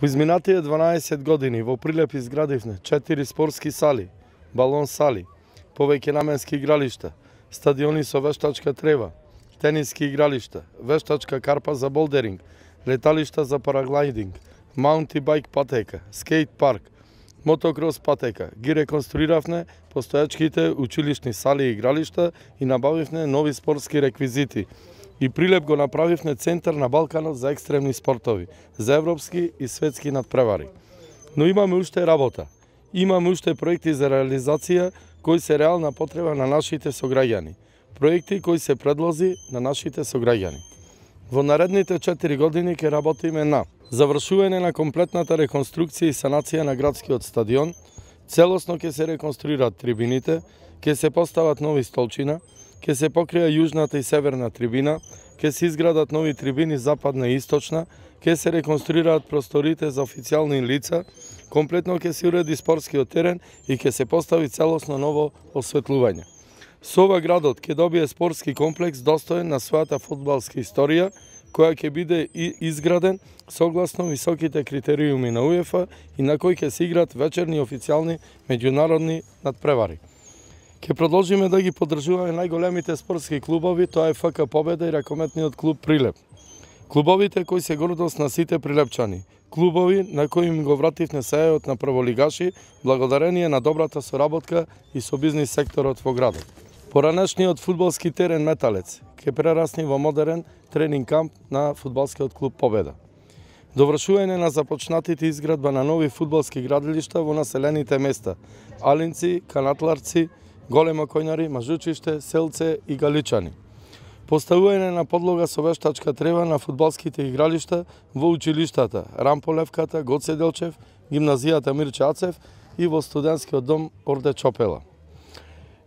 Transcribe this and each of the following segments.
Во изминатите 12 години во Прилеп изградивме 4 спортски сали, балон сали, повеќе наменски игралишта, стадиони со вештачка трева, тениски игралишта, вештачка карпа за болдеринг, леталишта за параглайдинг, маунти байк патека, скейт парк, мотокрос патека. Ги реконструиравме постојачките училишни сали и игралишта и набавивме нови спортски реквизити. И Прилеп го направивме центар на Балканот за екстремни спортови, за европски и светски надпревари. Но имаме уште работа. Имаме уште проекти за реализација кои се реална потреба на нашите сограѓани. Проекти кои се предлози на нашите сограѓани. Во наредните 4 години ќе работиме на завршување на комплетната реконструкција и санација на градскиот стадион, целосно ќе се реконструираат трибините, ќе се постават нови столчина, ќе се покрија јужната и северна трибина, ќе се изградат нови трибини западна и источна, ќе се реконструираат просторите за официјални лица, комплетно ќе се уреди спортскиот терен и ќе се постави целосно ново осветлување. Со ова градот ќе добие спортски комплекс достоен на својата фудбалска историја, која ќе биде изграден согласно високите критериуми на УЕФА и на кој ќе се играат вечерни официјални меѓународни надпревари. Ќе продолжиме да ги поддржуваме најголемите спортски клубови, тоа е ФК Победа и ракометниот клуб Прилеп. Клубовите кои се гордост на сите прилепчани. Клубови на кои им го вративме сејот на прволигаши, благодарение на добрата соработка и со бизнис секторот во градот. Поранешниот фудбалски терен Металец ќе прерасне во модерен тренинг камп на фудбалскиот клуб Победа. Довршување на започнатите изградба на нови фудбалски градилишта во населените места Алинци, Канатларци, Голема Коњари, Мажучиште, Селце и Галичани. Поставување на подлога со вештачка трева на фудбалските игралишта во училиштата Рамполевката, Гоце Делчев, гимназијата Мирче Ацев и во студентскиот дом Орде Чопела.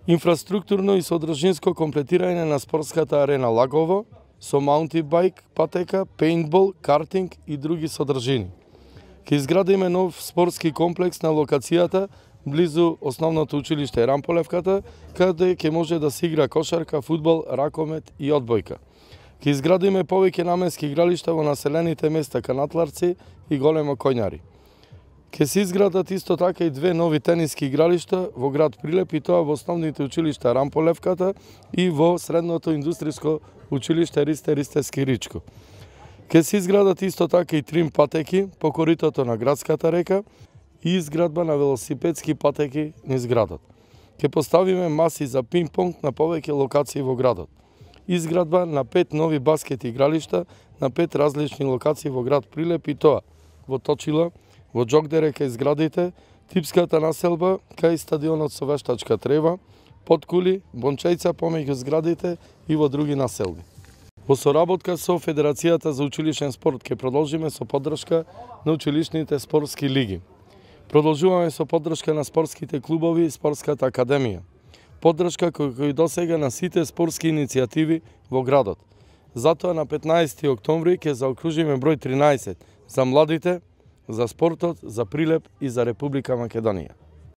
Инфраструктурно и содржинско комплетирање на спортската арена Лагово со маунти байк, патека, пейнтбол, картинг и други содржини. Ќе изградиме нов спортски комплекс на локацијата близу основното училиште Рамполевката, каде ќе може да се игра кошарка, фудбал, ракомет и одбојка. Ќе изградиме повеќе наменски игралишта во населените места Канатларци и Голема Коњари. Ќе се изградат исто така и 2 нови тениски игралишта во град Прилеп и тоа во основните училишта Рамполевката и во средното индустриско училиште Ристе Скиричко. Ќе се изградат исто така и 3 патеки по коритото на градската река и изградба на велосипедски патеки низ градот. Ќе поставиме маси за пинг-понг на повеќе локации во градот. Изградба на 5 нови баскет игралишта на 5 различни локации во град Прилеп и тоа во Точила, во Џокдере кај зградите, типската населба кај стадионот со вештачка трева, Подкули, Бончејца помеѓу зградите и во други населби. Во соработка со Федерацијата за училишен спорт ќе продолжиме со поддршка на училишните спортски лиги. Продолжуваме со поддршка на спортските клубови и спортската академија. Поддршка кој досега на сите спортски иницијативи во градот. Затоа на 15 октомври ќе заокружиме број 13 за младите, за спортот, за Прилеп и за Република Македонија.